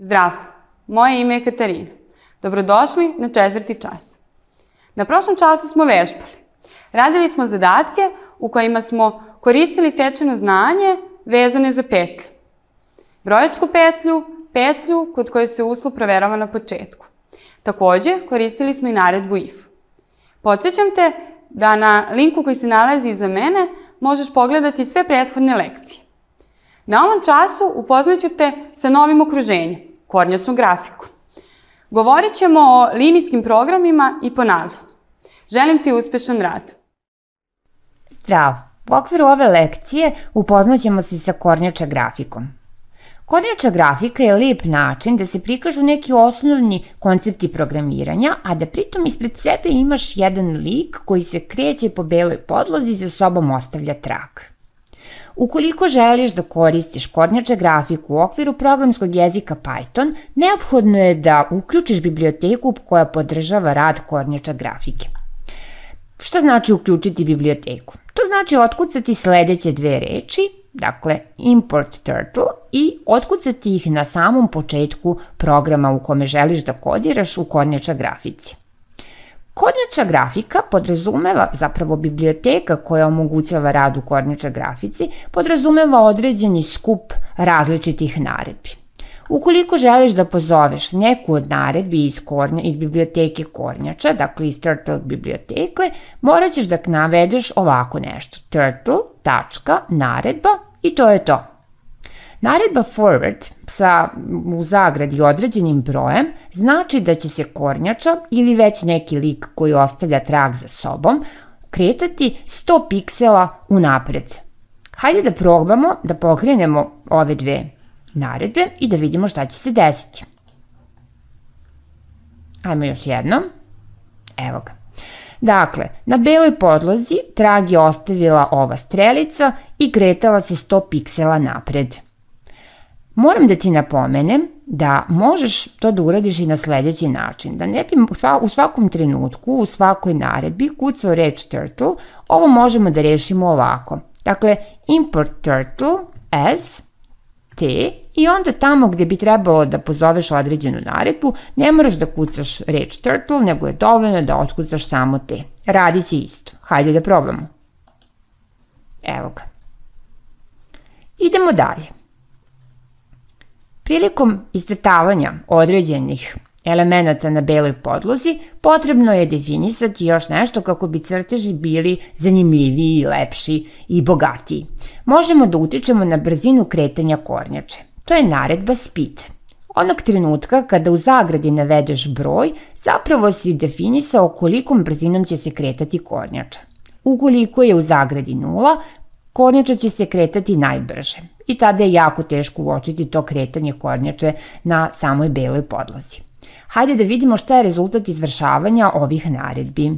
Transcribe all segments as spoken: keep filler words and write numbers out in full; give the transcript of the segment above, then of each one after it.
Zdravo, moje ime je Katarina. Dobrodošli na četvrti čas. Na prošlom času smo vežbali. Radili smo zadatke u kojima smo koristili stečeno znanje vezane za petlju. Brojačku petlju, petlju kod koje se uslov proverava na početku. Takođe, koristili smo i naredbu if. Podsjećam te da na linku koji se nalazi iza mene možeš pogledati sve prethodne lekcije. Na ovom času upoznaću te sa novim okruženjem, kornjačnom grafikom. Govorit ćemo o linijskim programima i ponavljanju. Želim ti uspešan rad. Zdravo! U okviru ove lekcije upoznaćemo se sa kornjača grafikom. Kornjača grafika je lep način da se prikažu neki osnovni koncepti programiranja, a da pritom ispred sebe imaš jedan lik koji se kreće po beloj podlozi i za sobom ostavlja trag. Ukoliko želiš da koristiš kornjača grafiku u okviru programskog jezika Python, neophodno je da uključiš biblioteku koja podržava rad kornjača grafike. Šta znači uključiti biblioteku? To znači otkucati sledeće dve reči, dakle import turtle, i otkucati ih na samom početku programa u kome želiš da kodiraš u kornjača grafici. Kornjača grafika podrazumeva, zapravo biblioteka koja omogućava rad u kornjača grafici, podrazumeva određeni skup različitih naredbi. Ukoliko želiš da pozoveš neku od naredbi iz, kornja, iz biblioteke kornjača, dakle iz turtle biblioteke, morat ćeš da navedeš ovako nešto. Turtle, tačka, naredba i to je to. Naredba forward sa u zagradi određenim brojem znači da će se kornjača ili već neki lik koji ostavlja trag za sobom kretati sto piksela unapred. Hajde da probamo da pokrenemo ove dve naredbe i da vidimo šta će se desiti. Ajmo još jednom. Evo ga. Dakle, na beloj podlozi trag je ostavila ova strelica i kretala se sto piksela napred. Moram da ti napomenem da možeš to da uradiš i na sledeći način, da ne bi u svakom trenutku, u svakoj naredbi kucao reč turtle, ovo možemo da rešimo ovako. Dakle, import turtle as t i onda tamo gde bi trebalo da pozoveš određenu naredbu, ne moraš da kucaš reč turtle, nego je dovoljno da otkucaš samo t. Radit će isto. Hajde da probamo. Evo ga. Idemo dalje. Prilikom iscrtavanja određenih elemenata na beloj podlozi, potrebno je definisati još nešto kako bi crteži bili zanimljiviji, lepši i bogatiji. Možemo da utičemo na brzinu kretanja kornjače. To je naredba speed. Onog trenutka kada u zagradi navedeš broj, zapravo si definisao kolikom brzinom će se kretati kornjača. Ukoliko je u zagradi nula, kornjača će se kretati najbrže i tada je jako teško uočiti to kretanje kornjače na samoj beloj podlozi. Hajde da vidimo šta je rezultat izvršavanja ovih naredbi.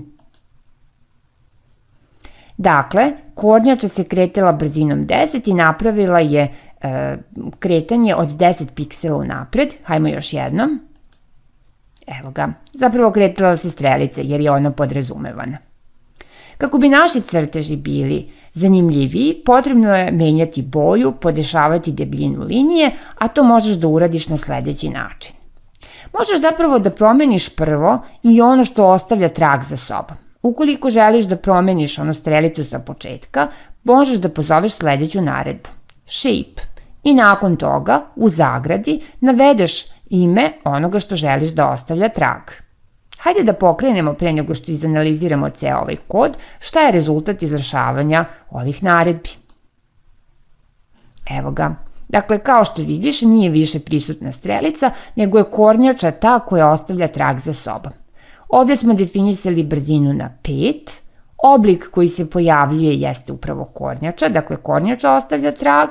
Dakle, kornjača se kretala brzinom deset i napravila je e, kretanje od deset piksela unapred. Hajmo još jednom. Evo ga. Zapravo kretala se strelica jer je ona podrazumevana. Kako bi naši crteži bili zanimljiviji, potrebno je menjati boju, podešavati debljinu linije, a to možeš da uradiš na sledeći način. Možeš zapravo da promeniš prvo i ono što ostavlja trag za sobom. Ukoliko želiš da promeniš onu strelicu sa početka, možeš da pozoveš sledeću naredbu. Shape. I nakon toga, u zagradi, navedeš ime onoga što želiš da ostavlja trag. Hajde da pokrenemo pre nego što izanaliziramo ceo ovaj kod, šta je rezultat izvršavanja ovih naredbi. Evo ga. Dakle, kao što vidiš, nije više prisutna strelica, nego je kornjača ta koja ostavlja trag za sobom. Ovde smo definisali brzinu na pet, oblik koji se pojavljuje jeste upravo kornjača, dakle kornjača ostavlja trag,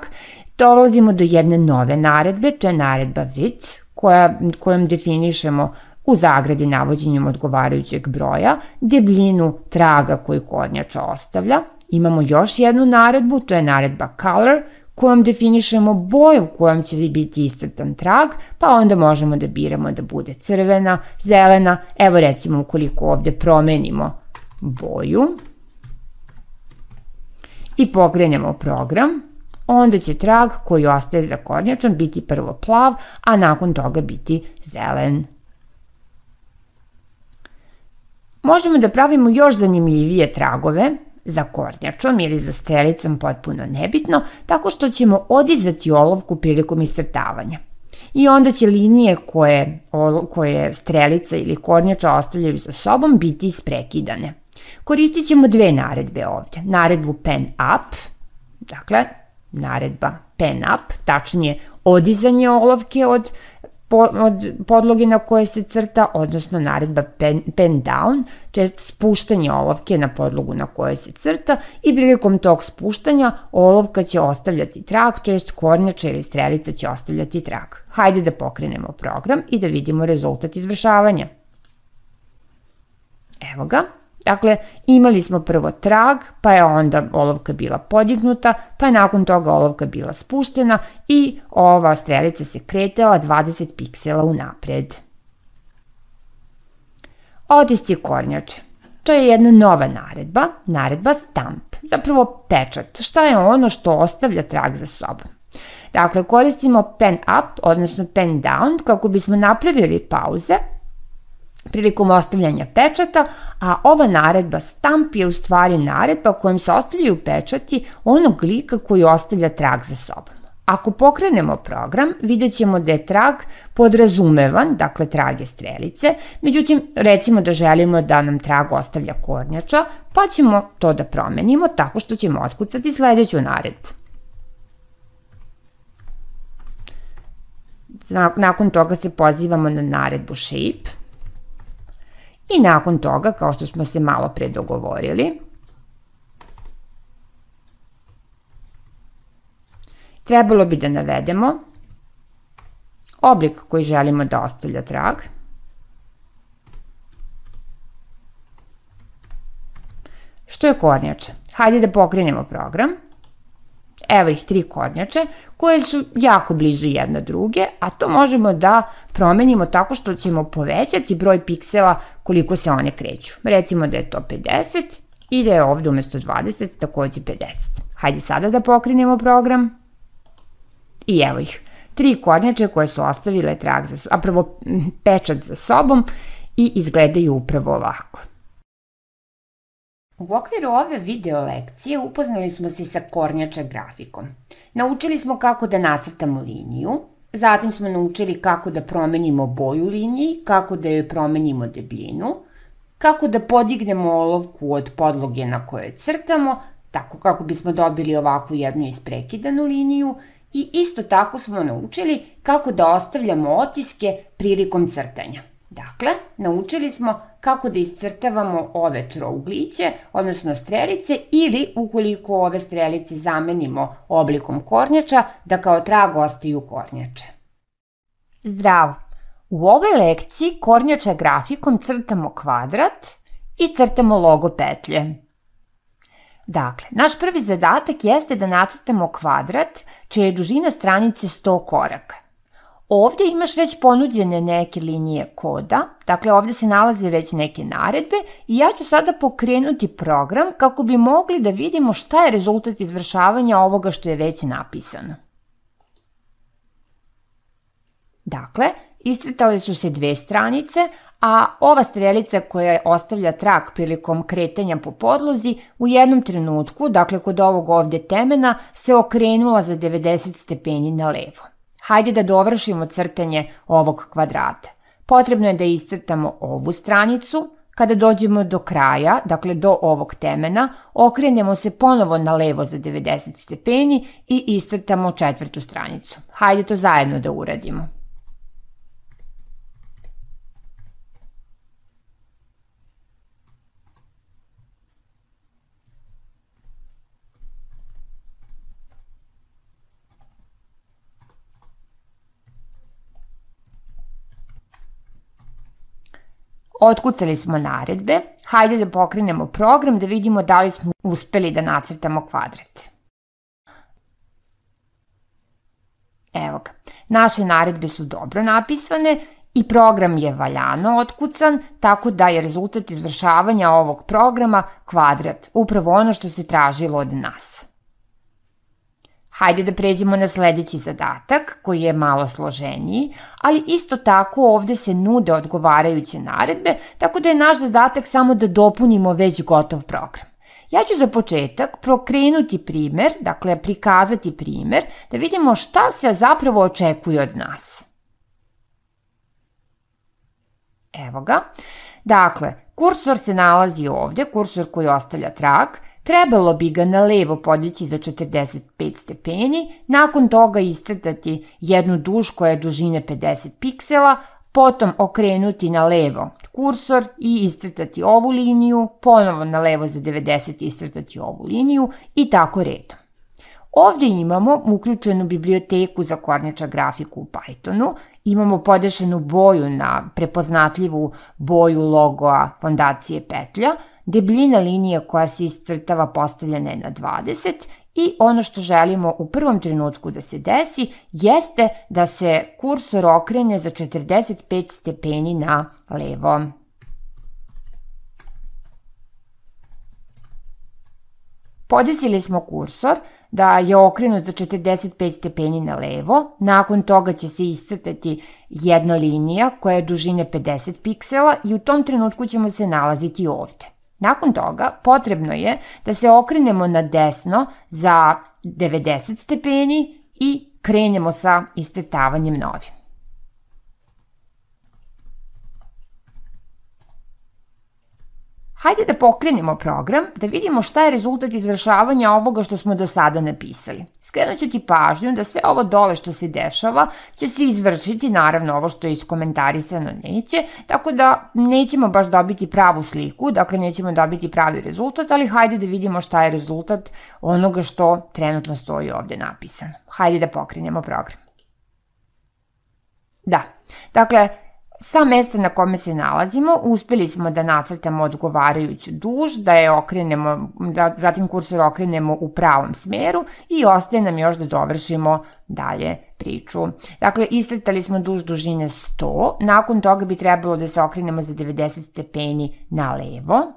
dolazimo do jedne nove naredbe, to je naredba width, koja, kojom definišemo u zagradi navođenjem odgovarajućeg broja, debljinu traga koju kornjača ostavlja. Imamo još jednu naredbu, to je naredba color, kojom definišemo boju kojom će biti iscrtan trag, pa onda možemo da biramo da bude crvena, zelena. Evo recimo ukoliko ovde promenimo boju i pokrenemo program, onda će trag koji ostaje za kornjačom biti prvo plav, a nakon toga biti zelen. Možemo da pravimo još zanimljivije tragove za kornjačom ili za strelicom, potpuno nebitno, tako što ćemo odizati olovku prilikom iscrtavanja. I onda će linije koje, koje strelica ili kornjača ostavljaju za sobom biti isprekidane. Koristit ćemo dve naredbe ovdje. Naredbu pen up, dakle, naredba pen up, tačnije odizanje olovke od, od podloge na koje se crta, odnosno naredba pen, pen down, to je spuštanje olovke na podlogu na kojoj se crta i prilikom tog spuštanja olovka će ostavljati trag, to jest kornjača ili strelica će ostavljati trag. Hajde da pokrenemo program i da vidimo rezultat izvršavanja. Evo ga. Dakle, imali smo prvo trag, pa je onda olovka bila podignuta, pa je nakon toga olovka bila spuštena i ova strelica se kretala dvadeset piksela unapred. Otisci kornjače. To je jedna nova naredba, naredba stamp, zapravo pečat. Šta je ono što ostavlja trag za sobom? Dakle, koristimo pen up, odnosno pen down, kako bismo napravili pauze prilikom ostavljanja pečata, a ova naredba stamp je u stvari naredba kojom se ostavljaju pečati onog lika koji ostavlja trag za sobom. Ako pokrenemo program, vidjet ćemo da je trag podrazumevan, dakle trag je strelice, međutim, recimo da želimo da nam trag ostavlja kornjača, pa ćemo to da promenimo tako što ćemo otkucati sledeću naredbu. Nakon toga se pozivamo na naredbu shape i nakon toga, kao što smo se malo pre dogovorili, trebalo bi da navedemo oblik koji želimo da ostavlja trag. Što je kornjača? Hajde da pokrenemo program. Evo ih tri kornjače koje su jako blizu jedna druge, a to možemo da promenimo tako što ćemo povećati broj piksela koliko se one kreću. Recimo da je to pedeset i da je ovde umesto dvadeset takođe pedeset. Hajde sada da pokrenemo program. I evo ih, tri kornjače koje su ostavile trag za sobom, a prvo pečat za sobom i izgledaju upravo ovako. U okviru ove video lekcije upoznali smo se sa kornjača grafikom. Naučili smo kako da nacrtamo liniju, zatim smo naučili kako da promenimo boju liniji, kako da joj promenimo debljinu, kako da podignemo olovku od podloge na kojoj crtamo, tako kako bismo dobili ovakvu jednu isprekidanu liniju, i isto tako smo naučili kako da ostavljamo otiske prilikom crtanja. Dakle, naučili smo kako da iscrtavamo ove trougliće, odnosno strelice, ili ukoliko ove strelice zamenimo oblikom kornjača, da kao trag ostaju kornjače. Zdravo! U ovoj lekciji kornjača grafikom crtamo kvadrat i crtamo logo petlje. Dakle, naš prvi zadatak jeste da nacrtamo kvadrat čija je dužina stranice sto koraka. Ovde imaš već ponuđene neke linije koda, dakle ovde se nalaze već neke naredbe i ja ću sada pokrenuti program kako bi mogli da vidimo šta je rezultat izvršavanja ovoga što je već napisano. Dakle, iscrtale su se dve stranice, a ova strelica koja ostavlja trag prilikom kretanja po podlozi u jednom trenutku, dakle kod ovog ovde temena, se okrenula za devedeset stepeni na levo. Hajde da dovršimo crtanje ovog kvadrata. Potrebno je da iscrtamo ovu stranicu. Kada dođemo do kraja, dakle do ovog temena, okrenemo se ponovo na levo za devedeset stepeni i iscrtamo četvrtu stranicu. Hajde to zajedno da uradimo. Otkucali smo naredbe, hajde da pokrenemo program da vidimo da li smo uspeli da nacrtamo kvadrat. Evo ga, naše naredbe su dobro napisane i program je valjano otkucan, tako da je rezultat izvršavanja ovog programa kvadrat, upravo ono što se tražilo od nas. Hajde da pređemo na sledeći zadatak, koji je malo složeniji, ali isto tako ovde se nude odgovarajuće naredbe, tako da je naš zadatak samo da dopunimo već gotov program. Ja ću za početak prokrenuti primer, dakle prikazati primer, da vidimo šta se zapravo očekuje od nas. Evo ga. Dakle, kursor se nalazi ovde, kursor koji ostavlja trag. Trebalo bi ga na levo podići za četrdeset pet stepeni, nakon toga iscrtati jednu duž koja je dužine pedeset piksela, potom okrenuti na levo kursor i iscrtati ovu liniju, ponovo na levo za devedeset iscrtati ovu liniju i tako redom. Ovde imamo uključenu biblioteku za kornjača grafiku u Pythonu, imamo podešenu boju na prepoznatljivu boju logoa fondacije petlja, debljina linije koja se iscrtava postavljena je na dvadeset i ono što želimo u prvom trenutku da se desi jeste da se kursor okrene za četrdeset pet stepeni na levo. Podesili smo kursor da je okrenut za četrdeset pet stepeni na levo, nakon toga će se iscrtati jedna linija koja je dužine pedeset piksela i u tom trenutku ćemo se nalaziti ovde. Nakon toga potrebno je da se okrenemo na desno za devedeset stepeni i krenemo sa iscrtavanjem novim. Hajde da pokrenemo program, da vidimo šta je rezultat izvršavanja ovoga što smo do sada napisali. Skrenut ću ti pažnju da sve ovo dole što se dešava će se izvršiti, naravno ovo što je iskomentarisano neće, tako da nećemo baš dobiti pravu sliku, dakle nećemo dobiti pravi rezultat, ali hajde da vidimo šta je rezultat onoga što trenutno stoji ovde napisano. Hajde da pokrenemo program. Da, dakle, sa mesta na kome se nalazimo uspeli smo da nacrtamo odgovarajuću duž, da je okrenemo, da zatim kursor okrenemo u pravom smeru i ostaje nam još da dovršimo dalje priču. Dakle, iscrtali smo duž dužine sto, nakon toga bi trebalo da se okrenemo za devedeset stepeni na levo.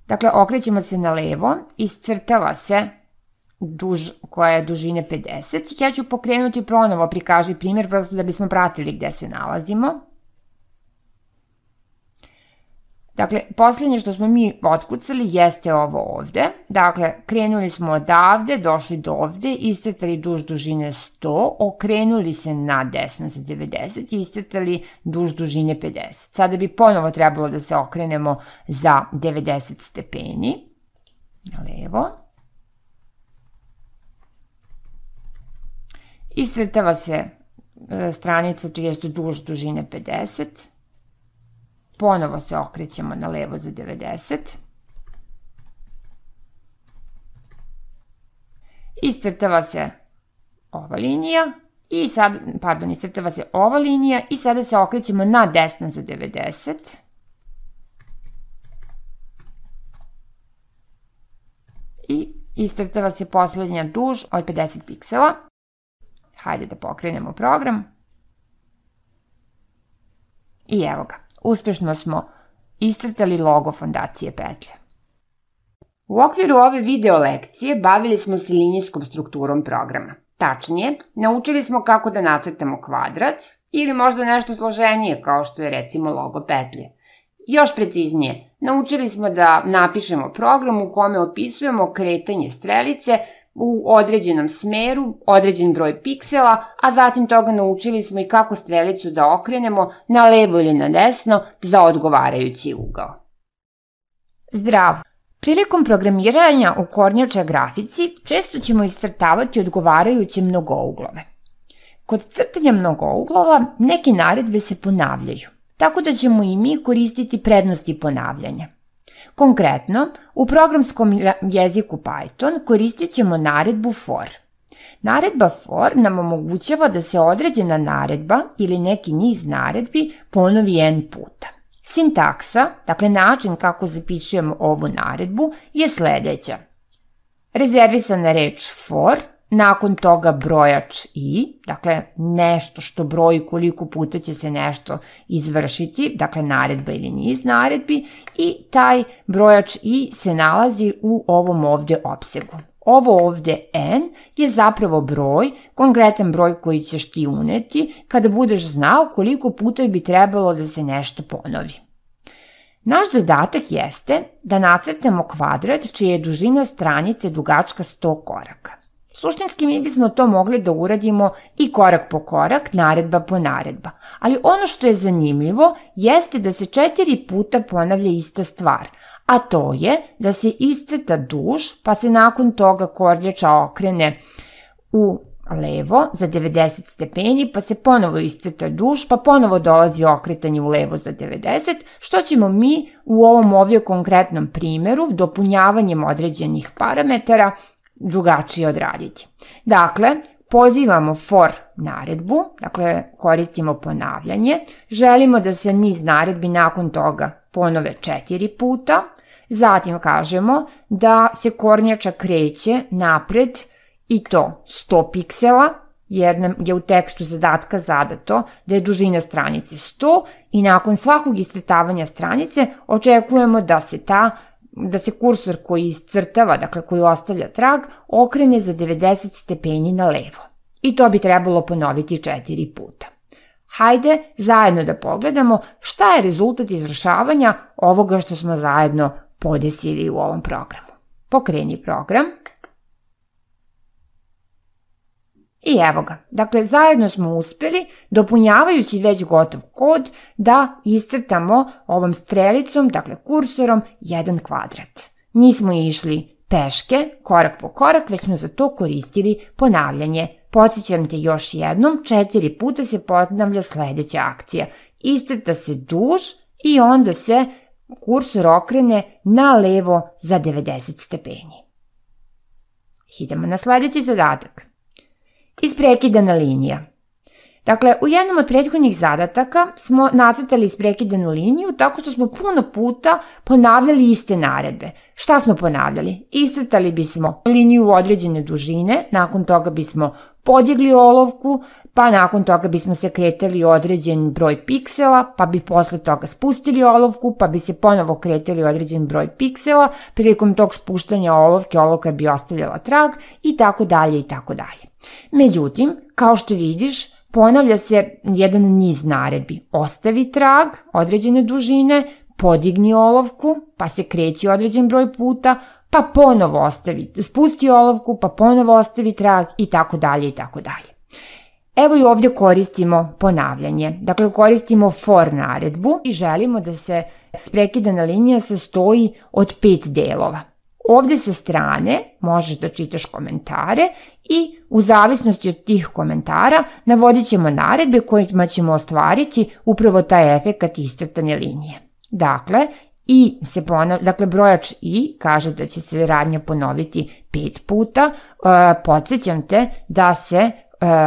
Dakle, okrećemo se na levo, iscrtava se duž koja je dužine pedeset. Ja ću pokrenuti ponovo prikaži primjer, prosto da bismo pratili gde se nalazimo. Dakle, poslednje što smo mi otkucali jeste ovo ovde. Dakle, krenuli smo odavde, došli do ovde, iscrtali duž dužine sto, okrenuli se na desno za devedeset i iscrtali duž dužine pedeset. Sada bi ponovo trebalo da se okrenemo za devedeset stepeni na levo. Iscrtava se stranica, to jest duž dužine pedeset. Ponovo se okrećemo na levo za devedeset. Iscrtava se ova linija i sad, pardon, iscrtava se ova linija i sada se okrećemo na desno za devedeset. I iscrtava se poslednja duž od pedeset piksela. Hajde da pokrenemo program. I evo ga. Uspešno smo iscrtali logo fondacije petlje. U okviru ove video lekcije bavili smo se linijskom strukturom programa. Tačnije, naučili smo kako da nacrtamo kvadrat ili možda nešto složenije kao što je recimo logo petlje. Još preciznije, naučili smo da napišemo program u kome opisujemo kretanje strelice u određenom smeru, određen broj piksela, a zatim toga naučili smo i kako strelicu da okrenemo na levo ili na desno za odgovarajući ugao. Zdravo! Prilikom programiranja u kornjača grafici često ćemo iscrtavati odgovarajuće mnogouglove. Kod crtanja mnogouglova neke naredbe se ponavljaju, tako da ćemo i mi koristiti prednosti ponavljanja. Konkretno, u programskom jeziku Python koristit ćemo naredbu for. Naredba for nam omogućava da se određena naredba ili neki niz naredbi ponovi n puta. Sintaksa, dakle način kako zapisujemo ovu naredbu, je sledeća. Rezervisana reč for nakon toga brojač i, dakle nešto što broji koliko puta će se nešto izvršiti, dakle naredba ili niz naredbi, i taj brojač i se nalazi u ovom ovde opsegu. Ovo ovde n je zapravo broj, konkretan broj koji ćeš ti uneti kada budeš znao koliko puta bi trebalo da se nešto ponovi. Naš zadatak jeste da nacrtamo kvadrat čija je dužina stranice dugačka sto koraka. Suštinski mi bismo to mogli da uradimo i korak po korak, naredba po naredba, ali ono što je zanimljivo jeste da se četiri puta ponavlja ista stvar, a to je da se iscrta duž, pa se nakon toga kornjača okrene u levo za devedeset stepeni, pa se ponovo iscrta duž, pa ponovo dolazi okretanje u levo za devedeset, što ćemo mi u ovom ovdje konkretnom primjeru dopunjavanjem određenih parametara drugačije odraditi. Dakle, pozivamo for naredbu, dakle koristimo ponavljanje, želimo da se niz naredbi nakon toga ponove četiri puta, zatim kažemo da se kornjača kreće napred i to sto piksela, jer nam je u tekstu zadatka zadato da je dužina stranice sto i nakon svakog iscrtavanja stranice očekujemo da se ta da se kursor koji iscrtava, dakle koji ostavlja trag, okrene za devedeset stepeni na levo. I to bi trebalo ponoviti četiri puta. Hajde zajedno da pogledamo šta je rezultat izvršavanja ovoga što smo zajedno podesili u ovom programu. Pokreni program. I evo ga. Dakle, zajedno smo uspeli, dopunjavajući već gotov kod, da iscrtamo ovom strelicom, dakle kursorom, jedan kvadrat. Nismo išli peške, korak po korak, već smo za to koristili ponavljanje. Podsjećam te još jednom, četiri puta se ponavlja sledeća akcija. Iscrta se duž i onda se kursor okrene na levo za devedeset stepeni. Idemo na sledeći zadatak. Isprekidana linija. Dakle, u jednom od prethodnih zadataka smo nacrtali isprekidanu liniju tako što smo puno puta ponavljali iste naredbe. Šta smo ponavljali? Iscrtali bismo liniju određene dužine, nakon toga bismo podigli olovku, pa nakon toga bismo se kretali određen broj piksela, pa bi posle toga spustili olovku, pa bi se ponovo kretali određen broj piksela, prilikom tog spuštanja olovke olovka bi ostavljala trag i tako dalje i tako dalje. Međutim, kao što vidiš, ponavlja se jedan niz naredbi. Ostavi trag određene dužine, podigni olovku, pa se kreći određen broj puta, pa ponovo ostavi, spusti olovku, pa ponovo ostavi trag i tako dalje i tako dalje. Evo i ovdje koristimo ponavljanje. Dakle, koristimo for naredbu i želimo da se prekidana linija sastoji od pet delova. Ovdje sa strane možeš da čitaš komentare i u zavisnosti od tih komentara navodit ćemo naredbe kojima ćemo ostvariti upravo taj efekat iscrtane linije. Dakle, i se ponavlja, dakle brojač i kaže da će se radnja ponoviti pet puta. E, podsjećam te da se e,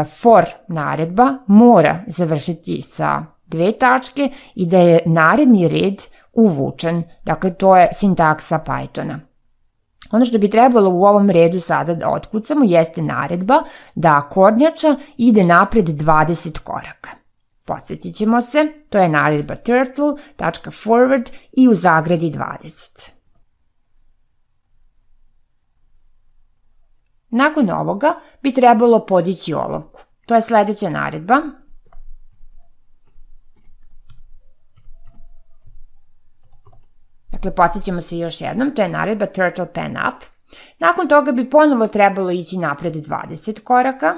for naredba mora završiti sa dve tačke i da je naredni red uvučen. Dakle, to je sintaksa Pythona. Ono što bi trebalo u ovom redu sada da otkucamo jeste naredba da kornjača ide napred dvadeset koraka. Podsjetit ćemo se, to je naredba turtle.forward i u zagradi dvadeset. Nakon ovoga bi trebalo podići olovku. To je sledeća naredba. Dakle, podsjećamo se još jednom, to je naredba turtle pen up. Nakon toga bi ponovo trebalo ići napred dvadeset koraka.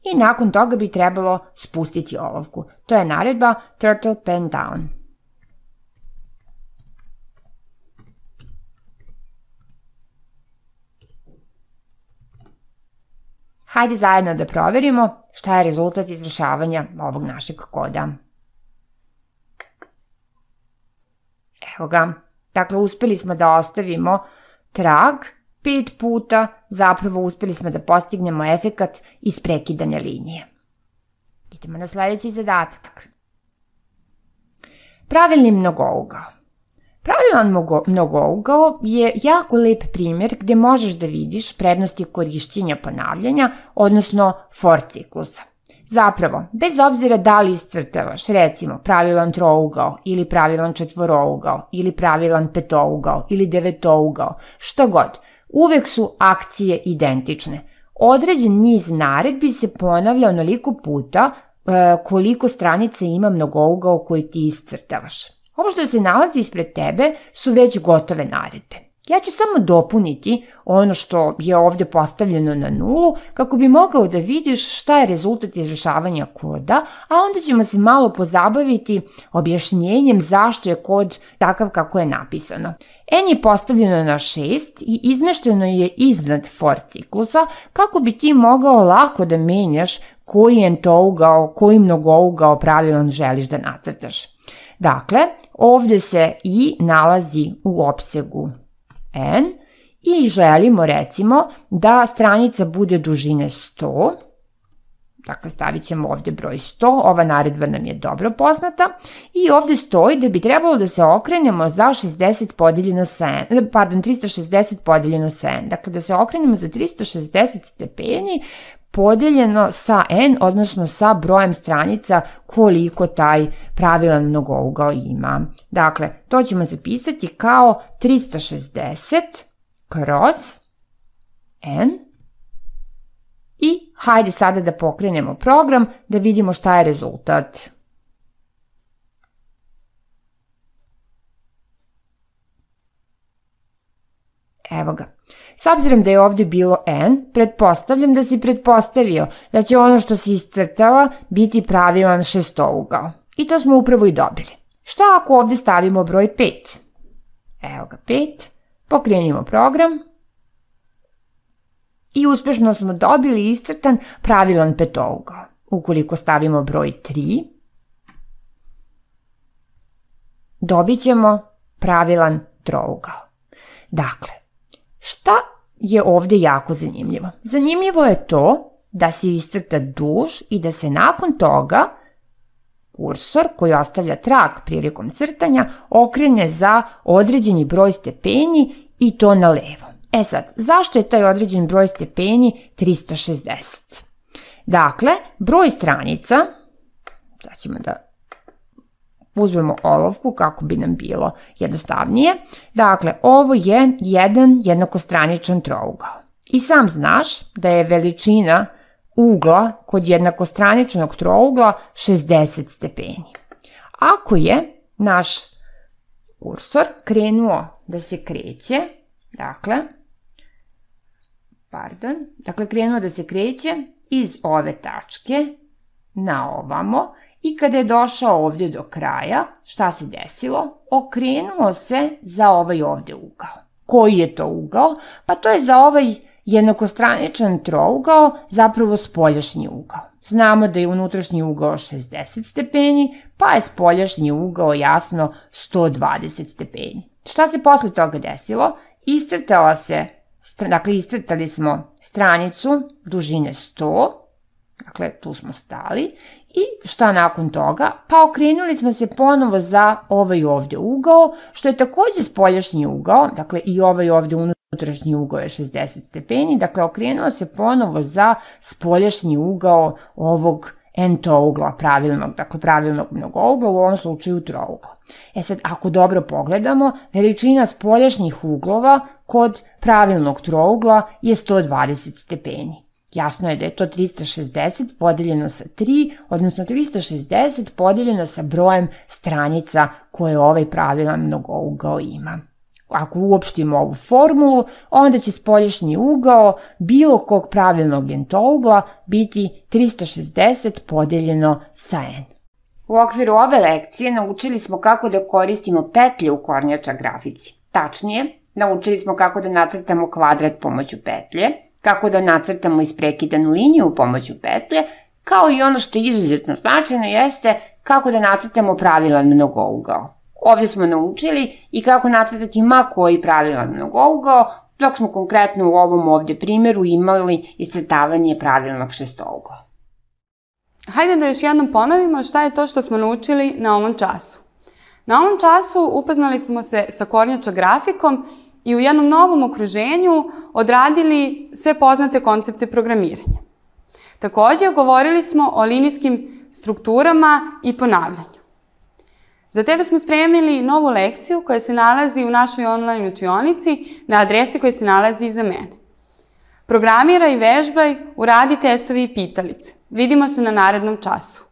I nakon toga bi trebalo spustiti olovku. To je naredba turtle pen down. Hajde zajedno da proverimo šta je rezultat izvršavanja ovog našeg koda. Evo ga. Dakle, uspeli smo da ostavimo trag pet puta, zapravo uspeli smo da postignemo efekat isprekidane linije. Idemo na sledeći zadatak. Pravilni mnogougao. Pravilan mnogougao je jako lep primjer gde možeš da vidiš prednosti korišćenja ponavljanja, odnosno for ciklusa. Zapravo, bez obzira da li iscrtavaš, recimo, pravilan trougao ili pravilan četvorougao ili pravilan petougao ili devetougao, što god, uvek su akcije identične. Određen niz naredbi se ponavlja onoliko puta koliko stranica ima mnogougao koji ti iscrtavaš. Ovo što se nalazi ispred tebe su već gotove naredbe. Ja ću samo dopuniti ono što je ovde postavljeno na nulu kako bi mogao da vidiš šta je rezultat izvršavanja koda, a onda ćemo se malo pozabaviti objašnjenjem zašto je kod takav kako je napisano. N je postavljeno na šest i izmešteno je iznad for ciklusa kako bi ti mogao lako da menjaš koji entougao, koji mnogougao pravilan želiš da nacrtaš. Dakle, ovde se i nalazi u opsegu N i želimo recimo da stranica bude dužine sto, dakle stavit ćemo ovde broj sto, ova naredba nam je dobro poznata i ovde stoji da bi trebalo da se okrenemo za šezdeset podeljeno sa N, pardon, trista šezdeset podeljeno sa N, dakle da se okrenemo za trista šezdeset stepeni podeljeno sa N, odnosno sa brojem stranica koliko taj pravilan mnogougao ima. Dakle, to ćemo zapisati kao trista šezdeset kroz N i hajde sada da pokrenemo program da vidimo šta je rezultat. Evo ga. S obzirom da je ovde bilo N, pretpostavljam da si pretpostavio da će ono što se iscrtava biti pravilan šestougao. I to smo upravo i dobili. Šta ako ovde stavimo broj pet? Evo ga, pet. Pokrenimo program. I uspešno smo dobili iscrtan pravilan petougao. Ukoliko stavimo broj tri, dobit ćemo pravilan trougao. Dakle, šta je ovde jako zanimljivo? Zanimljivo je to da se iscrta duž i da se nakon toga kursor koji ostavlja trag prilikom crtanja okrene za određeni broj stepeni i to na levo. E sad, zašto je taj određen broj stepeni trista šezdeset? Dakle, broj stranica, sad ćemo da uzmemo olovku kako bi nam bilo jednostavnije. Dakle, ovo je jedan jednakostraničan trougao. I sam znaš da je veličina ugla kod jednakostraničnog trougla šezdeset stepeni. Ako je naš kursor krenuo da se kreće, dakle, pardon, dakle krenuo da se kreće iz ove tačke na ovamo, i kada je došao ovde do kraja, šta se desilo? Okrenuo se za ovaj ovde ugao. Koji je to ugao? Pa to je za ovaj jednakostraničan trougao zapravo spoljašnji ugao. Znamo da je unutrašnji ugao šezdeset stepeni, pa je spoljašnji ugao jasno sto dvadeset stepeni. Šta se posle toga desilo? Iscrtala se, dakle iscrtali smo stranicu dužine sto, dakle tu smo stali, i šta nakon toga? Pa okrenuli smo se ponovo za ovaj ovde ugao, što je takođe spoljašnji ugao, dakle i ovaj ovde unutrašnji ugao je šezdeset stepeni, dakle okrenuo se ponovo za spoljašnji ugao ovog entougla, pravilnog, dakle pravilnog mnogougla, u ovom slučaju trougla. E sad, ako dobro pogledamo, veličina spoljašnjih uglova kod pravilnog trougla je sto dvadeset stepeni. Jasno je da je to trista šezdeset podeljeno sa tri, odnosno trista šezdeset podeljeno sa brojem stranica koje ovaj pravilan mnogougao ima. Ako uopštimo ovu formulu, onda će spoljašnji ugao bilo kog pravilnog entougla biti trista šezdeset podeljeno sa N. U okviru ove lekcije naučili smo kako da koristimo petlje u kornjača grafici. Tačnije, naučili smo kako da nacrtamo kvadrat pomoću petlje, kako da nacrtamo isprekidanu liniju pomoću petlje, kao i ono što je izuzetno značajno jeste kako da nacrtamo pravilan mnogougao. Ovdje smo naučili i kako nacrtati ma koji pravilan mnogougao, dok smo konkretno u ovom ovdje primjeru imali iscrtavanje pravilnog šestougla. Hajde da još jednom ponovimo šta je to što smo naučili na ovom času. Na ovom času upoznali smo se sa kornjača grafikom i u jednom novom okruženju odradili sve poznate koncepte programiranja. Takođe, govorili smo o linijskim strukturama i ponavljanju. Za tebe smo spremili novu lekciju koja se nalazi u našoj online učionici na adresi koja se nalazi iza mene. Programiraj, vežbaj, uradi testovi i pitalice. Vidimo se na narednom času.